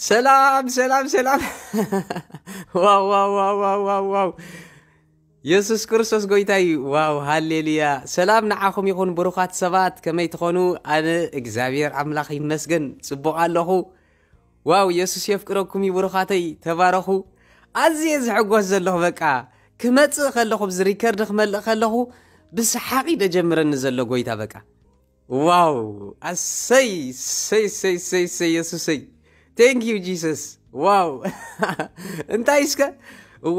ሰላም ሰላም ሰላም። ዋው ዋው ዋው ዋው ዋው ዋው። የሱስ ክርስቶስ ጎይታ እዩ። ዋው ሃሌሉያ። ሰላም ንዓኹም ይኹን ብሩኻት ሰባት፣ ከመይ ትኾኑ? ኣነ እግዚኣብሔር ኣምላኽ ይመስገን ጽቡቕ ኣለኹ። ዋው የሱስ የፍቅረኩም እዩ ብሩኻተይ፣ ተባረኹ። ኣዝየ ዝሕጎስ ዘለኹ በቃ፣ ክመጽእ ከለኹ፣ ብዚ ሪከርድ ክመልእ ከለኹ ብሰሓቕ እዩ ደጀምረኒ ዘሎ ጎይታ በቃ። ዋው ኣሰይ ሰይ ሰይ ሰይ ሰይ የሱሰይ። Thank you Jesus። ዋው እንታይ እስከ?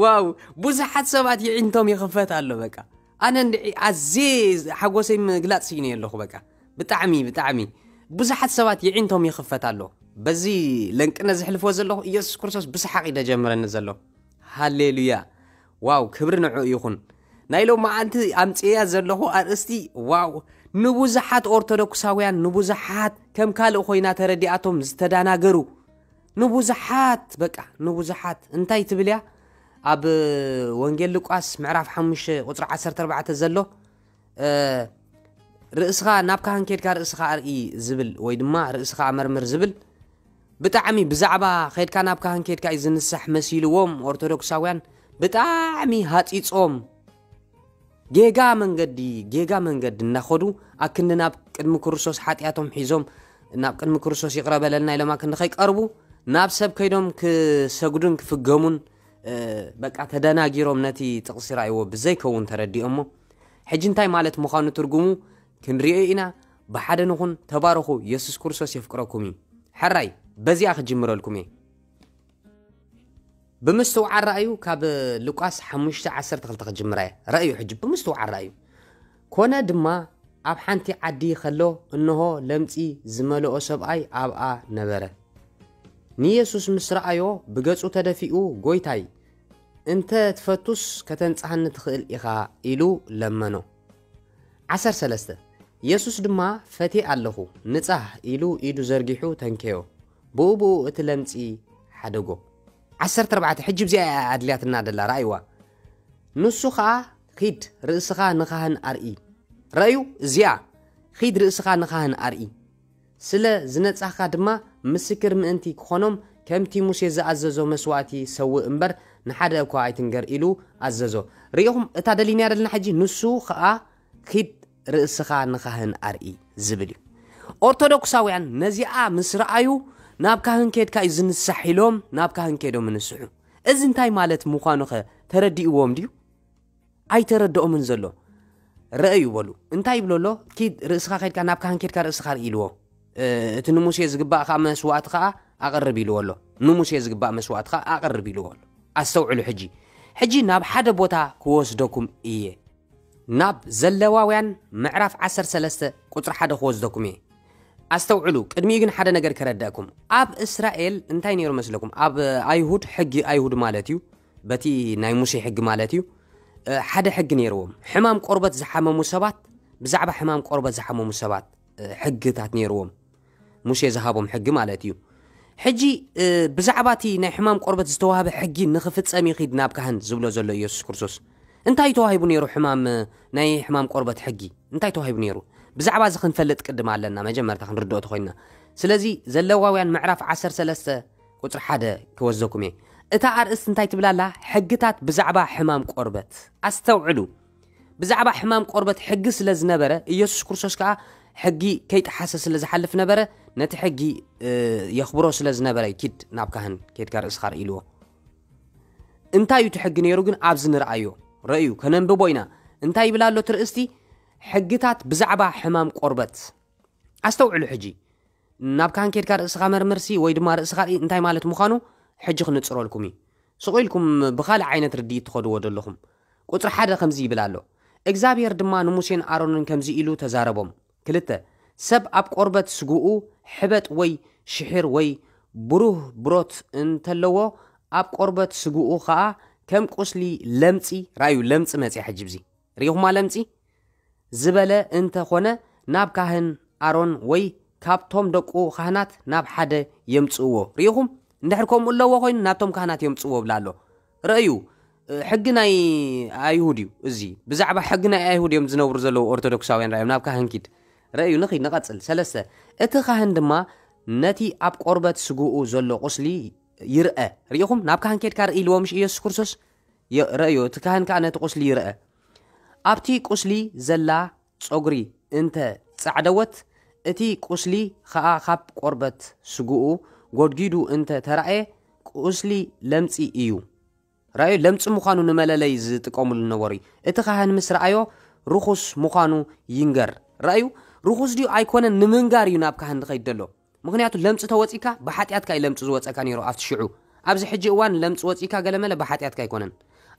ዋው ብዙሓት ሰባት ይዒንቶም ይኽፈት ኣሎ በቃ። ኣነ እንድዒ ኣዝየ ሓጎሰይ ምግላጽ ስኢነ ኣለኹ በቃ። ብጣዕሚ ብጣዕሚ ብዙሓት ሰባት ይዒንቶም ይኽፈት ኣሎ። በዚ ለንቅነ ዝሕልፎ ዘለኹ ኢየሱስ ክርስቶስ ብሰሓቕ እዩ ደጀምረኒ ዘሎ። ሃሌሉያ። ዋው ክብሪ ንዑ ይኹን። ናይ ሎማዓንቲ ኣምፅያ ዘለኹ ኣርእስቲ ዋው ንብዙሓት ኦርቶዶክሳውያን ንብዙሓት ከም ካልእ ኮይና ተረዲኣቶም ዝተዳናገሩ ንብዙሓት በቃ ንብዙሓት እንታይ ትብል እያ? ኣብ ወንጌል ሉቃስ ምዕራፍ ሓሙሽተ ቁፅሪ ዓሰርተ ኣርባዕተ ዘሎ ርእስኻ ናብ ካህን ኬድካ ርእስኻ ኣርኢ ዝብል ወይ ድማ ርእስኻ ኣመርምር ዝብል ብጣዕሚ ብዛዕባ ኸድካ ናብ ካህን ኬድካ እዩ ዝንሳሕ መሲልዎም ኦርቶዶክሳውያን ብጣዕሚ ሃፂፆም ጌጋ መንገዲ ጌጋ መንገዲ እናኸዱ ኣክንዲ ናብ ቅድሚ ክርስቶስ ሓጢኣቶም ሒዞም ናብ ቅድሚ ክርስቶስ ይቕረ በለልና ኢሎም ኣክንዲ ከይቀርቡ ናብ ሰብ ከይዶም ክሰግዱን ክፍገሙን በቃ ተደናጊሮም ነቲ ጥቕሲ ራእይዎ ብዘይከውን ተረዲኦሞ ሕጂ እንታይ ማለት ምዃኑ ትርጉሙ ክንሪኦ ኢና። ብሓደ ንኹን ተባረኹ። የሱስ ክርስቶስ የፍቅረኩም እዩ። ሕራይ በዚኣ ክጅምረልኩም እየ። ብምስትውዓል ረኣዩ ካብ ሉቃስ ሓሙሽተ ዓሰርተ ክልተ ክጅምራ እየ። ረኣዩ ሕጂ ብምስትውዓል ረኣዩ። ኮነ ድማ ኣብ ሓንቲ ዓዲ ከሎ እንሆ ለምጺ ዝመልኦ ሰብኣይ ኣብኣ ነበረ። ንየሱስ ምስ ረኣዮ ብገጹ ተደፊኡ ጎይታይ እንተ ትፈቱስ ከተንጽሃኒ ትኽእል ኢኻ ኢሉ ለመኖ። ዓሰርተ ሰለስተ የሱስ ድማ ፈትየ ኣለኹ ንጻህ ኢሉ ኢዱ ዘርጊሑ ተንከዮ። ብኡ ብኡ እቲ ለምጺ ሓደጎ። ዓሰርተ ኣርባዕተ ሕጂ ብዚኣ እያ ኣድልያትና ደላ ረኣይዋ። ንሱ ኸኣ ኺድ ርእስኻ ንኻህን ኣርኢ። ረእዩ እዚኣ ኺድ ርእስኻ ንኻህን ኣርኢ። ስለ ዝነጻህካ ድማ ምስክር ምእንቲ ክኾኖም ከምቲ ሙሴ ዝኣዘዞ መስዋእቲ ሰውእ እምበር ንሓደ እኳ ኣይትንገር ኢሉ ኣዘዞ። ርኢኹም እታ ደሊናያ ደለና ሕጂ ንሱ ኸኣ ኺድ ርእስኻ ንኻህን ኣርኢ ዝብል እዩ። ኦርቶዶክሳውያን ነዚኣ ምስ ረኣዩ ናብ ካህን ኬድካ እዩ ዝንሳሕ ኢሎም ናብ ካህን ኬዶም ንስሑ። እዚ እንታይ ማለት ምዃኑ ኸ ተረዲእዎም ድዩ? ኣይተረድኦምን ዘሎ። ረእዩ በሉ እንታይ ይብሎ ኣሎ? ኪድ ርእስኻ ከድካ ናብ ካህን ኬድካ ርእስኻ ርኢ ኢልዎ። እቲ ንሙሴ ዝግባእ ከዓ መስዋእቲ ከዓ ኣቕርብ ኢልዎ ኣሎ። ንሙሴ ዝግባእ መስዋእቲ ከዓ ኣቕርብ ኢልዎ ኣሎ። ኣስተውዕሉ ሕጂ። ሕጂ ናብ ሓደ ቦታ ክወስደኩም እየ። ናብ ዘለዋውያን ምዕራፍ ዓሰርተ ሰለስተ ቁፅሪ ሓደ ክወስደኩም እየ። ኣስተውዕሉ፣ ቅድሚኡ ግን ሓደ ነገር ከረዳእኩም። ኣብ እስራኤል እንታይ ነይሩ መስለኩም? ኣብ ኣይሁድ፣ ሕጊ ኣይሁድ ማለት እዩ፣ በቲ ናይ ሙሴ ሕጊ ማለት እዩ። ሓደ ሕጊ ነይርዎም። ሕማም ቆርበት ዝሓመሙ ሰባት፣ ብዛዕባ ሕማም ቆርበት ዝሓመሙ ሰባት ሕግታት ነይርዎም። ሙሴ ዝሃቦም ሕጊ ማለት እዩ። ሕጂ ብዛዕባ እቲ ናይ ሕማም ቆርበት ዝተዋህበ ሕጊ ንኽፍጸም ይኺድ ናብ ካህን ዝብሎ ዘሎ ኢየሱስ ክርስቶስ። እንታይ ተዋሂቡ ነይሩ? ሕማም ናይ ሕማም ቆርበት ሕጊ እንታይ ተዋሂቡ ነይሩ? ብዛዕባ እዚ ክንፈልጥ ቅድም ኣለና፣ መጀመርታ ክንርድኦ ተኾይንና። ስለዚ ዘለዋውያን ምዕራፍ ዓሰርተ ሰለስተ ቁፅሪ ሓደ ክወስደኩም እየ። እታ ኣርእስቲ እንታይ ትብላላ? ሕግታት ብዛዕባ ሕማም ቆርበት። ኣስተውዕሉ። ብዛዕባ ሕማም ቆርበት ሕጊ ስለ ዝነበረ ኢየሱስ ክርስቶስ ከዓ ሕጊ ከይጠሓሰ ስለ ዝሓልፍ ነበረ። ነቲ ሕጊ የኽብሮ ስለ ዝነበረ ኪድ ናብ ካህን ኬድካ ርእስኻ ርኢ ኢልዎ። እንታይ እዩ እቲ ሕጊ ነይሩ ግን ኣብዚ ንርኣዮ ረእዩ ከነንብቦ ኢና። እንታይ ይብል ኣሎ እቲ ርእስቲ? ሕግታት ብዛዕባ ሕማም ቆርበት። ኣስተውዕሉ ሕጂ ናብ ካህን ኬድካ ርእስኻ መርምርሲ ወይ ድማ ርእስኻ ርኢ እንታይ ማለት ምዃኑ ሕጂ ክንጽረልኩም እዩ። ስቕ ኢልኩም ብኻልእ ዓይነት ርድኢት ትኸድዎ ዘለኹም። ቁፅሪ ሓደ ከምዚ ይብል ኣሎ። እግዚኣብሔር ድማ ንሙሴን ኣሮንን ከምዚ ኢሉ ተዛረቦም። ክልተ ሰብ ኣብ ቆርበት ስግኡ ሕበጥ ወይ ሽሒር ወይ ብሩህ ብሮት እንተለዎ ኣብ ቆርበት ስግኡ ኸዓ ከም ቁስሊ ለምፂ ራዩ ለምፂ መፅያ ሕጂ ብዚ ርኢኹማ ለምፂ ዝበለ እንተ ኾነ ናብ ካህን ኣሮን ወይ ካብቶም ደቁ ካህናት ናብ ሓደ የምጽእዎ። ርኢኹም? እንድሕር ከምኡ ኣለዎ ኮይኑ ናብቶም ካህናት የምጽእዎ ብላ ኣሎ። ረእዩ፣ ሕጊ ናይ ኣይሁድ እዩ እዚ። ብዛዕባ ሕጊ ናይ ኣይሁድ እዮም ዝነብሩ ዘለዉ ኦርቶዶክሳውያን። ረእዮም ናብ ካህን ኪድ። ረእዩ፣ ንኺድ ንቐጽል። ሰለስተ እቲ ካህን ድማ ነቲ ኣብ ቆርበት ስግኡ ዘሎ ቁስሊ ይርአ። ርኢኹም፣ ናብ ካህን ኬድካ ርኢ ኢልዎ ምሽ ኢየሱስ ክርስቶስ? የ-፣ ረእዮ፣ እቲ ካህን ከኣ ነቲ ቁስሊ ይርአ። ኣብቲ ቁስሊ ዘላ ጸጉሪ እንተ ጻዕደወት፣ እቲ ቁስሊ ኸኣ ካብ ቆርበት ስግኡ ጎድጊዱ እንተ ተራእየ፣ ቁስሊ ለምጺ እዩ። ረኣዩ፣ ለምጺ ምዃኑ ንመለለይ ዝጥቀሙሉ ነበሩ። እቲ ካህን ምስ ረኣዮ፣ ርኹስ ምዃኑ ይንገር። ረኣዩ፣ ርኹስ ድዩ ኣይኮነን ንምንጋር እዩ ናብ ካህን ዝኸይድ ዘሎ። ምኽንያቱ ለምጺ ተወጺካ፣ ብሓጢኣትካ እዩ ለምጺ ዝወጸካ ነይሩ ኣብቲ ሽዑ። ኣብዚ ሕጂ እዋን ለምጺ ወጺካ ገለመለ ብሓጢኣትካ ኣይኮነን።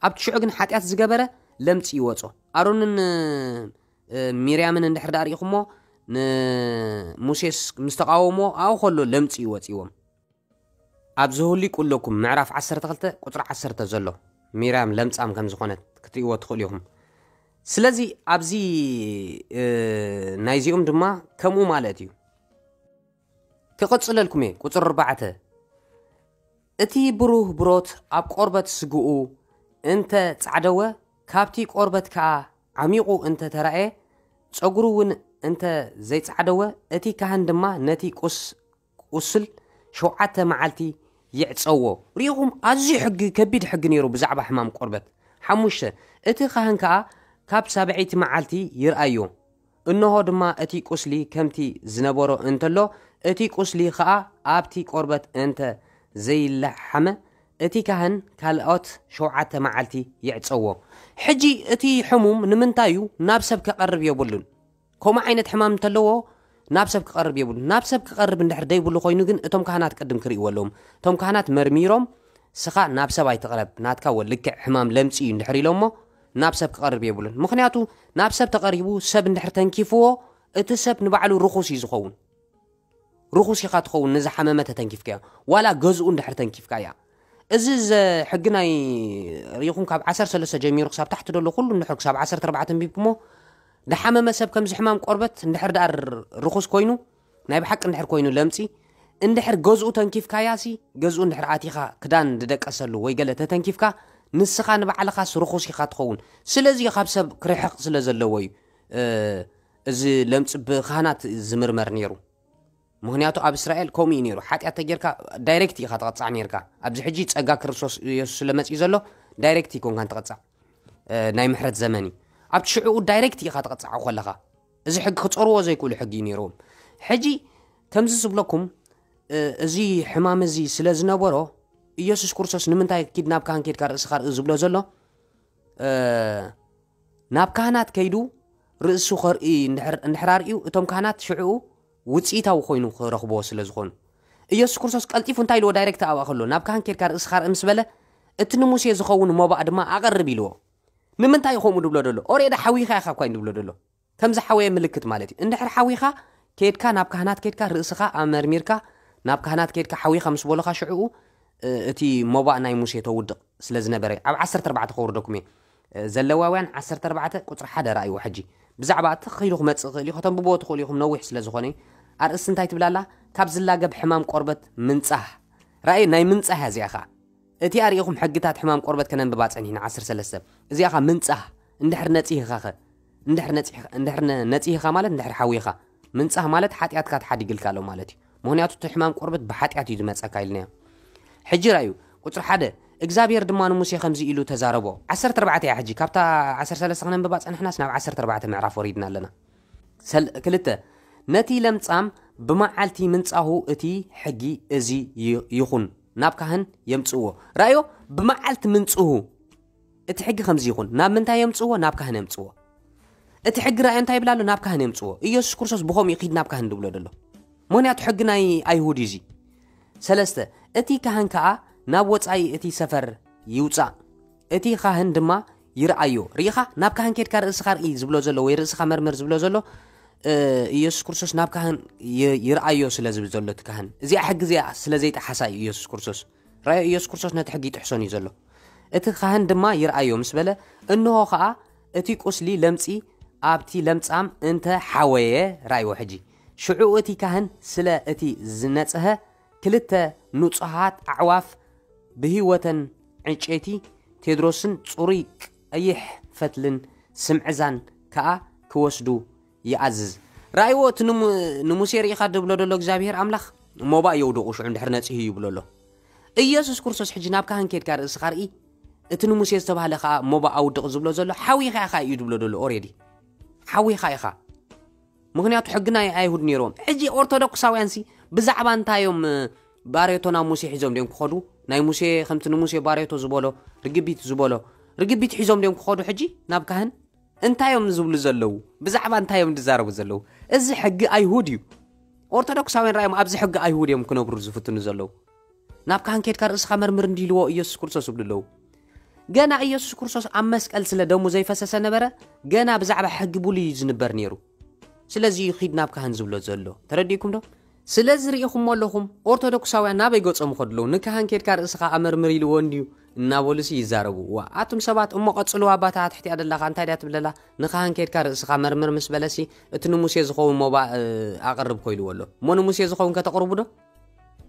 ኣብቲ ሽዑ ግን ሓጢኣት ዝገበረ ለምጺ ይወጾ። ኣሮንን፣ እ፣ ሚርያምን እንድሕር ደኣ ርኢኹሞ፣ ንሙሴስ ምስ ተቃወሞ፣ ኣብኡ ከሎ ለምጺ እዩ ወጺዎም። ኣብ ዘሁሊ ቁለኩም ምዕራፍ ዓሰርተ ክልተ ቁጽሪ ዓሰርተ ዘሎ፣ ሚርያም ለምጻም ከም ዝኾነት ክትርእይዎ ትኽእሉ ኢኹም። ስለዚ ኣብዚ፣ እ፣ ናይዚኦም ድማ ከምኡ ማለት እዩ። ክቕጽለልኩም እየ። ቁጽሪ ኣርባዕተ፣ እቲ ብሩህ ብሮት ኣብ ቆርበት ስግኡ እንተ ጻዕደወ፣ ካብቲ ቆርበት ከኣ ዓሚቑ እንተ ተራእየ፣ ጸጉሩ እውን እንተ ዘይጻዕደወ፣ እቲ ካህን ድማ ነቲ ቁስ-፣ ቁስል ሸውዓተ መዓልቲ ይዕጸዎ። ርኢኹም፣ ኣዝዩ ሕጊ፣ ከቢድ ሕጊ ነይሩ ብዛዕባ ሕማም ቆርበት። ሓሙሽተ፣ እቲ ካህን ከኣ ካብ ሳብዐይቲ መዓልቲ ይርኣዮ። እንሆ ድማ እቲ ቁስሊ ከምቲ ዝነበሮ እንተሎ፣ እቲ ቁስሊ ኸኣ ኣብቲ ቆርበት እንተ ዘይለሓመ፣ እቲ ካህን ካልኦት ሸውዓተ መዓልቲ ይዕጸዎ። ሕጂ እቲ ሕሙም ንምንታይ እዩ ናብ ሰብ ከቐርብ የብሉን? ከምኡ ዓይነት ሕማም እንተለዎ ናብ ሰብ ክቐርብ የብሉን። ናብ ሰብ ክቐርብ እንድሕር ደይብሉ ኮይኑ ግን እቶም ካህናት ቅድም ክርእይዎ ኣለዎም። እቶም ካህናት መርሚሮም፣ "ስኻ ናብ ሰብ ኣይትቕረብ፣ ናትካ ወ-፣ ልክዕ ሕማም ለምጺ እዩ" እንድሕር ኢሎሞ፣ ናብ ሰብ ክቐርብ የብሉን። ምኽንያቱ ናብ ሰብ ተቐሪቡ ሰብ እንድሕር ተንኪፍዎ፣ እቲ ሰብ ንባዕሉ ርኹስ እዩ ዝኸውን። ርኹስ ኢኻ ትኸውን ንዝሓመመ ተተንኪፍካዮ፣ ዋላ ገዝኡ እንድሕር ተንኪፍካያ። እዚ ዘ-፣ ሕጊ ናይ ርኢኹም ካብ ዓሰርተ ሰለስተ ጀሚሩ ክሳብ ታሕቲ ደሎ ኩሉ እንድሕር ክሳብ ዓሰርተ ኣርባዕተ ኣንቢብኩሞ፣ ዝሓመመ ሰብ ከምዚ ሕማም ቆርበት እንድሕር ደኣ ር-፣ ርኹስ ኮይኑ፣ ናይ ብሓቂ እንድሕር ኮይኑ ለምጺ፣ እንድሕር ገዝኡ ተንኪፍካያሲ፣ ገዝኡ እንድሕር ኣቲኻ ክዳን ዝደቀሰሉ ወይ ገለ ተተንኪፍካ፣ ንስኻ ንባዕልኻስ ርኹስ ኢኻ ትኸውን። ስለዚ ካብ ሰብ ክርሕቕ ስለ ዘለዎ እዩ፣ እ፣ እዚ ለምጺ ብካህናት ዝምርመር ነይሩ። ምኽንያቱ ኣብ እስራኤል ከምኡ እዩ ነይሩ። ሓጢኣት ተጌርካ ዳይሬክት ኢኻ ትቐጻዕ ነይርካ። ኣብዚ ሕጂ ጸጋ ክርስቶስ የሱስ ስለ መጺኡ ዘሎ ዳይሬክት ኣይኮንካን ትቐጻዕ። እ፣ ናይ ምሕረት ዘመን እዩ። ኣብቲ ሽዕኡ ዳይሬክት ኢኻ ትቐጻዕ ከለኻ። እዚ ሕጊ ክጸርዎ ዘይክእሉ ሕጊ እዩ ነይርዎም። ሕጂ ከምዚ ዝብለኩም፣ እ፣ እዚ ሕማም እዚ ስለ ዝነበሮ፣ ኢየሱስ ክርስቶስ ንምንታይ ኪድ ናብ ካህን ኬድካ ርእስኻ ርኢ ዝብሎ ዘሎ? እ፣ ናብ ካህናት ከይዱ ርእሱ ከርኢ እንድሕር፣ እንድሕር ኣርእዩ፣ እቶም ካህናት ሽዕኡ ውጽኢታዊ ኮይኑ ክረኽብዎ ስለ ዝኾኑ። ኢየሱስ ክርስቶስ ቀልጢፉ እንታይ ኢልዎ? ዳይሬክት ኣብኣ ከሎ፣ "ናብ ካህን ኬድካ ርእስኻ ርኢ" ምስ በለ፣ "እቲ ንሙሴ ዝኸውን መባእ ድማ ኣቐርብ" ኢልዎ። ንምንታይ እዩ ከምኡ ድብሎ ደሎ? ኦሬዲ ሓዊኻ ኢኻ እኳ እዩ ድብሎ ደሎ። ከም ዝሓወየ ምልክት ማለት እዩ። እንድሕር ሓዊኻ፣ ኬድካ ናብ ካህናት ኬድካ ርእስኻ ኣመርሚርካ፣ ናብ ካህናት ኬድካ ሓዊኻ ምስ በሉኻ ሽዕኡ፣ እ፣ እቲ መባእ ናይ ሙሴ ተውድቕ ስለ ዝነበረ፣ ኣብ ዓሰርተ ኣርባዕተ ከውርደኩም እየ። እ፣ ዘለዋውያን ዓሰርተ ኣርባዕተ ቁጽሪ ሓደ ረኣይዎ ሕጂ። ብዛዕባ እቲ ክኢሉ ክመጽእ ይኽእል እዩ፣ ከተንብብዎ ትኽእሉ ኢኹም፣ ነዊሕ ስለ ዝኾነ። ኣርእስቲ እንታይ ትብል ኣላ? ካብ ዝላገብ ሕማም ቆርበት ምንጻህ። ረኣይ፣ ናይ ምንጻህ እያ እዚኣ ኸኣ። እቲኣ ርኢኹም ሕግታት ሕማም ቆርበት ከነንብባ ጸኒሕና፣ ዓሰርተ ሰለስተ። እዚኣ ኸኣ ምንጻህ፣ እንድሕር ነጺህኻ ኸ? እንድሕር ነጺህ-፣ እንድሕር ነ-፣ ነጺህኻ ማለት እንድሕር ሓዊኻ። ምንጻህ ማለት ሓጢኣትካ ተሓዲግልካ ኣሎ ማለት እዩ። ምኽንያቱ እቲ ሕማም ቆርበት ብሓጢኣት እዩ ዝመጸካ ኢልናዮ። ሕጂ ራእዩ፣ ቁጽሪ ሓደ፣ እግዚኣብሔር ድማ ንሙሴ ከምዚ ኢሉ ተዛረቦ። ዓሰርተ ኣርባዕተ እያ ሕጂ፣ ካብታ ዓሰርተ ሰለስተ ክነንብባ ጸኒሕናስ ናብ ዓሰርተ ኣርባዕተ ምዕራፍ ወሪድና ኣለና። ሰል-፣ ክልተ፣ ነቲ ለምጻም ብመዓልቲ ምንጻሁ እቲ ሕጊ እዚ ይ-፣ ይኹን፣ ናብ ካህን የምጽእዎ። ራእዮ፣ ብመዓልቲ ምንጽሁ እቲ ሕጊ ከምዚ ይኹን። ናብ ምንታይ የምጽእዎ? ናብ ካህን የምጽእዎ። እቲ ሕጊ ራእዮ እንታይ ይብል ኣሎ? ናብ ካህን የምጽእዎ። ኢየሱስ ክርስቶስ ብኸምኡ እዩ ኪድ ናብ ካህን ድብሎ ደሎ። ምኽንያቱ ሕጊ ናይ ኣይሁድ እዩ እዚ። ሰለስተ፣ እቲ ካህን ከኣ ናብ ወጻኢ እቲ ሰፈር ይውጻእ፣ እቲ ካህን ድማ ይርኣዮ። ርኢኻ? ናብ ካህን ኬድካ ርእስኻ ርኢ ዝብሎ ዘሎ ወይ ርእስኻ መርምር ዝብሎ ዘሎ፣ እ፣ ኢየሱስ ክርስቶስ ናብ ካህን ይ-፣ ይርኣዮ ስለ ዝብል ዘሎ እቲ ካህን። እዚኣ ሕጊ እዚኣ ስለ ዘይጠሓሳ እዩ ኢየሱስ ክርስቶስ። ራእዮ ኢየሱስ ክርስቶስ ነቲ ሕጊ ይጥሕሶን እዩ ዘሎ። እቲ ካህን ድማ ይርኣዮ ምስ በለ፣ እንሆ ኸኣ እቲ ቁስሊ ለምጺ ኣብቲ ለምጻም እንተ ሓወየ፣ ራእይዎ ሕጂ። ሽዑ እቲ ካህን ስለ እቲ ዝነጽሀ ክልተ ንጹሃት ኣዕዋፍ ብህይወተን ዕንጨይቲ ቴድሮስን ጽሩይ ቀይሕ ፈትልን ስምዕዛን ከኣ ክወስዱ ይኣዝዝ። ራእይዎ እቲ ንሙ-፣ ንሙሴ ርኢኻ ድብሎ ደሎ እግዚኣብሔር ኣምላኽ፣ ሞባእ የውድቑ ሽዑ እንድሕር ነጺሁ ይብሎ ኣሎ። ኢየሱስ ክርስቶስ ሕጂ ናብ ካህን ኬድካ ርእስኻ ርኢ፣ እቲ ንሙሴ ዝተባህለ ከኣ ሞባእ ኣውድቕ ዝብሎ ዘሎ ሓዊኻ ኢኻ እዩ ዝብሎ ዘሎ። ኦሬዲ ሓዊኻ ኢኻ። ምኽንያቱ ሕጊ ናይ ኣይሁድ ነይርዎም። ሕጂ ኦርቶዶክሳውያንሲ ብዛዕባ እንታይ እዮም ባሬቶ ናብ ሙሴ ሒዞም ድዮም ክኸዱ? ናይ ሙሴ ከምቲ ንሙሴ ባሬቶ ዝበሎ፣ ርግቢት ዝበሎ፣ ርግቢት ሒዞም ድዮም ክኸዱ ሕጂ ናብ ካህን? እንታይ እዮም ዝብሉ ዘለዉ? ብዛዕባ እንታይ እዮም ዝዛረቡ ዘለዉ? እዚ ሕጊ ኣይሁድ እዩ። ኦርቶዶክሳውያን ራእዮም ኣብዚ ሕጊ ኣይሁድ እዮም ክነብሩ ዝፍትኑ ዘለዉ። ናብ ካህን ኬድካ ርእስኻ መርምር እንዲልዎ ኢየሱስ ክርስቶስ ይብሉ ኣለዉ። ገና ኢየሱስ ክርስቶስ ኣብ መስቀል ስለ ደሙ ዘይፈሰሰ ነበረ፣ ገና ብዛዕባ ሕጊ ብሉይ እዩ ዝንበር ነይሩ። ስለዚ እዩ ኺድ ናብ ካህን ዝብሎ ዘሎ። ተረዲእኩም ዶ? ስለዚ ርኢኹሞ ኣለኹም፣ ኦርቶዶክሳውያን ናበይ ገጾም ይኸዱ ኣለዉ? ንካህን ኬድካ ርእስኻ ኣመርምር ኢልዎ እንድዩ እናበሉሲ ይዛረቡ። ዋ፣ ኣቱም ሰባት እሞ ቀጽልዋ፣ ኣባታ ትሕቲኣ ደላኻ እንታይ ድያ ትብለላ? ንካህን ኬድካ ርእስኻ መርምር ምስ በለሲ፣ እቲ ንሙሴ ዝኸውን ሞባእ ኣቕርብ ኮይልዎ ኣሎ። እሞ ንሙሴ ዝኸውን ከተቕርቡ ዶ?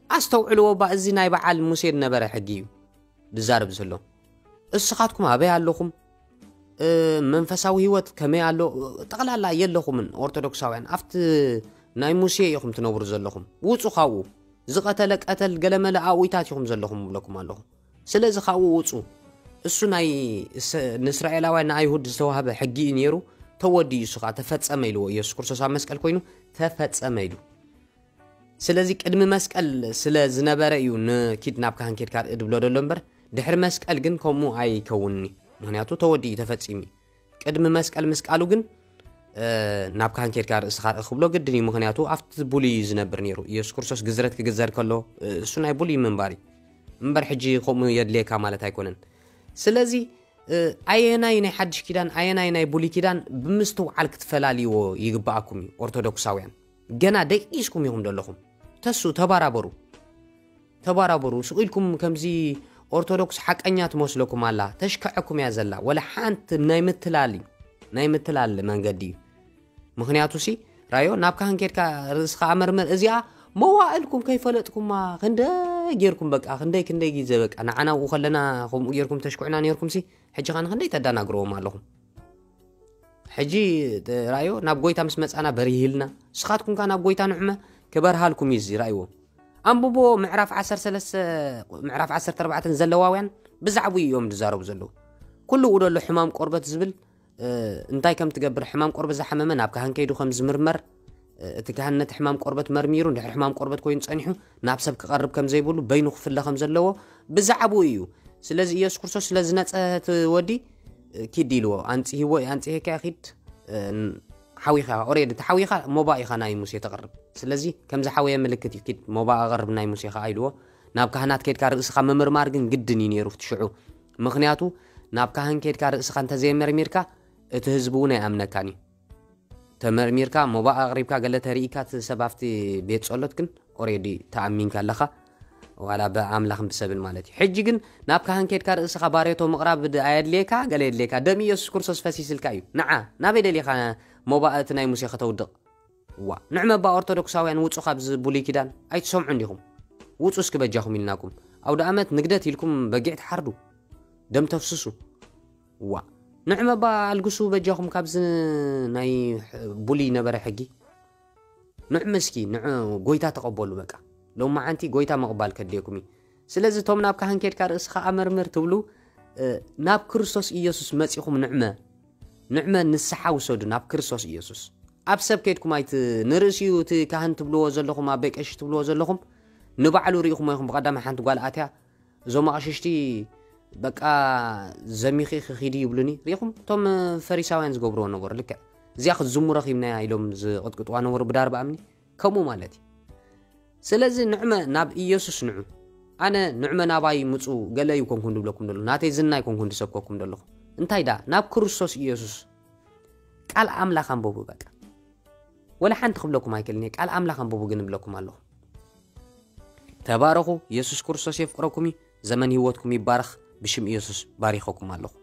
ኣስተውዕልዎ እባ፣ እዚ ናይ በዓል ሙሴ ዝነበረ ሕጊ እዩ ዝዛረብ ዘሎ። እስኻትኩም ኣበይ ኣለኹም? መንፈሳዊ ህይወት ከመይ ኣሎ? ጠቕላላ የለኹምን። ኦርቶዶክሳውያን ኣብቲ ናይ ሙሴ ኢኹም ትነብሩ ዘለኹም። ውጹ ካብኡ። ዝቐተለ ቀተል፣ ገለመለ ኣውይታት ኢኹም ዘለኹም እብለኩም ኣለኹ። ስለዚ ካብኡ ውጹ። እሱ ናይ ንእስራኤላውያን ንኣይሁድ ዝተዋህበ ሕጊ እዩ ነይሩ። ተወዲኡ፣ እሱ ከዓ ተፈጸመ ኢልዎ። ኢየሱስ ክርስቶስ ኣብ መስቀል ኮይኑ ተፈጸመ ኢሉ። ስለዚ ቅድሚ መስቀል ስለ ዝነበረ እዩ ንኪድ ናብ ካህን ኬድካ ርኢ ድብሎ ደሎ እምበር፣ ድሕሪ መስቀል ግን ከምኡ ኣይከውንኒ። ምኽንያቱ ተወዲኡ ተፈጺሙ። ቅድሚ መስቀል ምስ ቃሉ ግን ናብ ካህን ኬድካ ርእስኻ ርኢ ክብሎ ግድን እዩ። ምኽንያቱ ኣብቲ ብሉይ እዩ ዝነብር ነይሩ። ኢየሱስ ክርስቶስ ግዝረት ክግዘር ከሎ እሱ ናይ ብሉይ ምንባር እዩ እምበር፣ ሕጂ ከምኡ የድልየካ ማለት ኣይኮነን። ስለዚ ኣየናይ ናይ ሓድሽ ኪዳን ኣየናይ ናይ ብሉይ ኪዳን ብምስትውዓል ክትፈላልይዎ ይግብኣኩም እዩ። ኦርቶዶክሳውያን ገና ደቂስኩም ኢኹም ዘለኹም። ተሱ ተባራበሩ፣ ተባራበሩ። ስቕ ኢልኩም ከምዚ ኦርቶዶክስ ሓቀኛ ትመስለኩም ኣላ፣ ተሽከዐኩም እያ ዘላ። ወላ ሓንቲ ናይ ምትላል እዩ፣ ናይ ምትላል መንገዲ እዩ። ምኽንያቱ ሲ ራዮ ናብ ካህን ኬድካ ርእስኻ ኣመርምር። እዚኣ መዋእልኩም ከይፈለጥኩማ ክንደይ ጌርኩም በቃ ክንደይ ክንደይ ግዜ በቃ ንዓና ኣብኡ ከለና ከምኡ ጌርኩም ተሽኩዕና ኔርኩም ሲ ሕጂ ኸ ንኽንደይ ተዳናግርዎም ኣለኹም። ሕጂ ራዮ ናብ ጎይታ ምስ መጻና በሪህልና ስኻትኩም ከ ናብ ጎይታ ንዕመ ክበርሃልኩም እዩ እዚ ራእይዎ። ኣንብቦ ምዕራፍ ዓሰርተ ሰለስተ ምዕራፍ ዓሰርተ ኣርባዕተ ዘለዋውያን ብዛዕቡ እዮም ዝዛረቡ ዘለዉ። ኩሉ ደሎ ሕማም ቆርበት ዝብል እንታይ ከም ትገብር ሕማም ቆርበት ዝሓመመ ናብ ካህን ከይዱ ከም ዝምርመር እቲ ካህን ነቲ ሕማም ቆርበት መርሚሩ እንድሕር ሕማም ቆርበት ኮይኑ ጸኒሑ ናብ ሰብ ክቐርብ ከም ዘይብሉ በይኑ ክፍለ ከም ዘለዎ ብዛዕቡ እዩ። ስለዚ ኢየሱስ ክርስቶስ ስለ ዝነጸ እቲ ወዲ ኪድ ኢልዎ ኣንጽህዎ ኣንጽሄካ ኪድ ሓዊኻ ኦሬዲ ተሓዊኻ ሞባ ኢኻ ናይ ሙሴ ተቕርብ። ስለዚ ከምዚ ሓወየ ምልክት እዩ ኪድ ሞባ ኣቕርብ ናይ ሙሴ ኸዓ ኢልዎ። ናብ ካህናት ከድካ ርእስኻ ምምርማር ግን ግድን እዩ ነይሩ እቲ ሽዑ። ምኽንያቱ ናብ ካህን ከድካ ርእስኻ እንተዘየመርሚርካ እቲ ህዝቢ እውን ኣይኣምነካን እዩ። ተመርሚርካ ሞባ ኣቕሪብካ ገለ ተርኢካ እቲ ሰብ ኣብቲ ቤት ጸሎት ግን ኦሬዲ ተኣሚንካ ኣለኻ። ዋላ ብኣምላኽን ብሰብን ማለት እዩ። ሕጂ ግን ናብ ካህን ከድካ ርእስኻ ባሬቶ ምቕራብ ኣየድልየካ ገለ የድልየካ። ደም ኢየሱስ ክርስቶስ ፈሲስልካ እዩ። ንዓ ናበይ ደሊኻ ሞባ እቲ ናይ ሙሴ ከተውድቕ? ዋ ንዕመባ ኦርቶዶክሳውያን ውጹ ካብዚ ብሉይ ኪዳን ኣይትሰምዑ እንዲኹም። ውጹ እስኪ በጃኹም ኢልናኩም። ኣውደ ኣመት ንግደት ኢልኩም በጊዕ ትሓርዱ፣ ደም ተፍስሱ። ዋ ንዕመባ ኣልግሱ በጃኹም ካብዚ ናይ ብሉይ ነበረ ሕጊ። ንዕ ምስኪ ንዕ ጎይታ ተቐበሉ በቃ። ሎማዓንቲ ጎይታ ምቕባል ከድልየኩም እዩ። ስለዚ እቶም ናብ ካህን ኬድካ ርእስኻ ኣመርምር ትብሉ ናብ ክርስቶስ ኢየሱስ መጺኹም ንዕመ ንዕመ ንስሓ ውሰዱ ናብ ክርስቶስ ኢየሱስ። ኣብ ሰብ ከይድኩም ኣይት ንርእሲኡ እቲ ካህን ትብልዎ ዘለኹም ኣበይ ቀሺ ትብልዎ ዘለኹም ንባዕሉ ርኢኹሞ ኢኹም። ብቐዳማይ ሓንቲ ጓል ኣትያ እዞም ኣቕሽሽቲ በቃ ዘሚኺ ክኺዲ ይብሉኒ ርኢኹም። እቶም ፈሪሳውያን ዝገብርዎ ነበሩ ልክዕ እዚኣ ክትዝሙ ረኺብናያ ኢሎም ዝቕጥቅጥዋ ነበሩ ብዳርባ እምኒ ከምኡ ማለት እዩ። ስለዚ ንዕመ ናብ ኢየሱስ ንዑ። ኣነ ንዕመ ናባይ ምጹ ገለ እዩ ኮንኩን ዝብለኩም ዘለኹ ናተይ ዝና ኣይኮንኩን ዝሰብከኩም ዘለኹ። እንታይ ዳ ናብ ክርስቶስ ኢየሱስ ቃል ኣምላኽ ኣንበቡ በቃ። ወላ ሓንቲ ክብለኩም ኣይክእልን እየ ቃል ኣምላኽ ኣንበቡ ግን እብለኩም ኣለኹ። ተባረኹ። ኢየሱስ ክርስቶስ የፍቅረኩም እዩ። ዘመን ህይወትኩም ይባረኽ። ብሽም ኢየሱስ ባሪኸኩም ኣለኹ።